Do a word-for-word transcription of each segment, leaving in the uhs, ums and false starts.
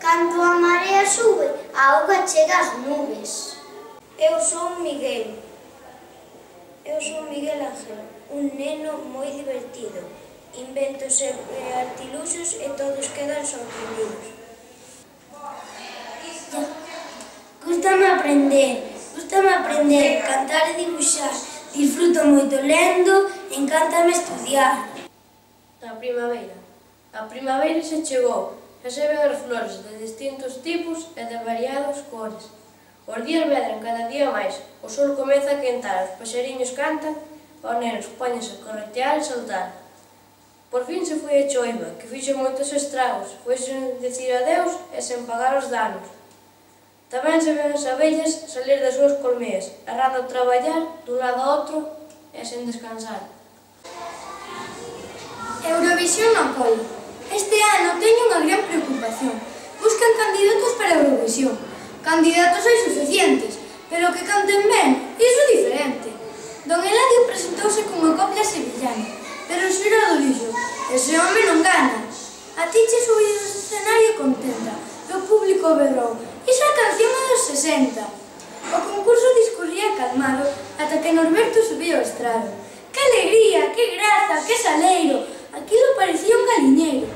Cando a marea sube, a auga chega ás nubes. Eu son Miguel. Eu son Miguel Ángel, un neno moi divertido. Inventos e artiluxos e todos quedan sorprendidos. Gústame aprender, gústame aprender, cantar e dibuixar. Disfruto moito lendo, encántame estudiar. A primavera. A primavera se chegou, xa se ven as flores de distintos tipos e de variadas cores. Os días medran cada día máis, o sol comeza a quentar, os paxariños cantan, os nenos póñense a corretear e saltar. Por fin se foi a choiva, que fixo moitos estragos, foi sen dicir adeus e sen pagar os danos. Tamén se ven as abellas salir das súas colmeas, errando a traballar dun lado a outro e sen descansar. Eurovisión no colo. Este ano teño unha gran preocupación. Buscan candidatos para a Eurovisión. Candidatos hai suficientes, pero que canten ben, iso é diferente. Don Eladio presentouse cunha copla sevillana, pero o xurado dixo, ese home non gana. A ti che subido do escenario contenta, e o público berrou, esa canción é dos sesenta. O concurso discurría calmado, ata que Norberto subiu ao estrado. Que alegría, que graza, que saleiro, aquilo parecía un galiñeiro.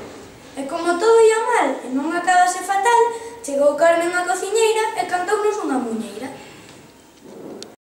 E como todo ia mal e non acabase fatal, chegou Carmen a cociñeira e cantounos unha muñeira.